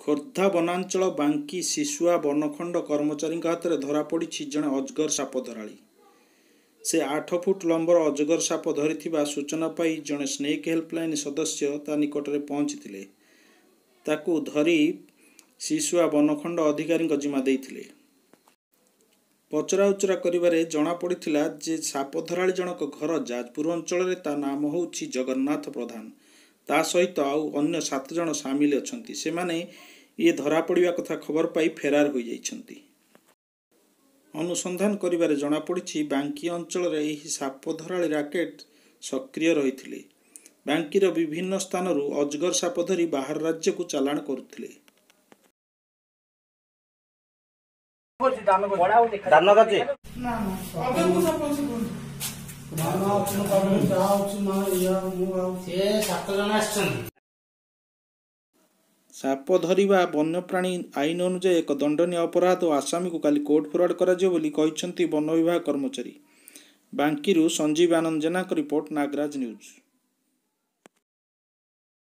ଖୋର୍ଦ୍ଧା ବନାଞ୍ଚଳ ବାଙ୍କୀ ଶିଶୁଆ ବନଖଣ୍ଡ କର୍ମଚାରୀଙ୍କ ହାତରେ ଧରାପଡ଼ିଛି ଜଣେ ଅଜଗର ସାପ ଧରାଳି। ସେ 8 ଫୁଟ ଲମ୍ବର ଅଜଗର ସାପ ଧରିଥିବା ସୂଚନା ପାଇ ଜଣେ ସ୍ନେକ୍ ହେଲ୍ପଲାଇନ୍ ସଦସ୍ୟ ତା ନିକଟରେ ପହଞ୍ଚିଥିଲେ। ତାକୁ ଧରି ଶିଶୁଆ ବନଖଣ୍ଡ ଅଧିକାରୀଙ୍କ ଜିମା ଦେଇଥିଲେ। ପଚରାଉଚରା କରିବାରେ ଜଣାପଡ଼ିଥିଲା ଯେ ସାପ ଧରାଳି ଜଣକ ଘର ଯାଜପୁର ଅଞ୍ଚଳରେ, ତା ନାମ ହେଉଛି ଜଗନ୍ନାଥ ପ୍ରଧାନ। ତା ସହିତ ଆଉ ଅନ୍ୟ 7 ଜଣ ସାମିଲ ଅଛନ୍ତି। ସେମାନେ ଇଏ ଧରାପଡ଼ିବା କଥା ଖବର ପାଇ ଫେରାର ହୋଇଯାଇଛନ୍ତି। ଅନୁସନ୍ଧାନ କରିବାରେ ଜଣାପଡ଼ିଛି, ବାଙ୍କୀ ଅଞ୍ଚଳରେ ଏହି ସାପ ଧରାଳି ରାକେଟ ସକ୍ରିୟ ରହିଥିଲେ। ବାଙ୍କୀର ବିଭିନ୍ନ ସ୍ଥାନରୁ ଅଜଗର ସାପ ଧରି ବାହାର ରାଜ୍ୟକୁ ଚାଲାଣ କରୁଥିଲେ। ଦାନ କାଚି ସେ 7 ଜଣ ଆସିଛନ୍ତି। ସାପ ଧରିବା ବନ୍ୟପ୍ରାଣୀ ଆଇନ ଅନୁଯାୟୀ ଏକ ଦଣ୍ଡନୀୟ ଅପରାଧ ଓ ଆସାମୀକୁ କାଲି କୋର୍ଟ ଫରୱାର୍ଡ କରାଯିବ ବୋଲି କହିଛନ୍ତି ବନ ବିଭାଗ କର୍ମଚାରୀ। ବାଙ୍କୀରୁ ସଞ୍ଜୀବ ଆନନ୍ଦ ଜେନାଙ୍କ ରିପୋର୍ଟ, ନାଗରାଜ ନ୍ୟୁଜ୍।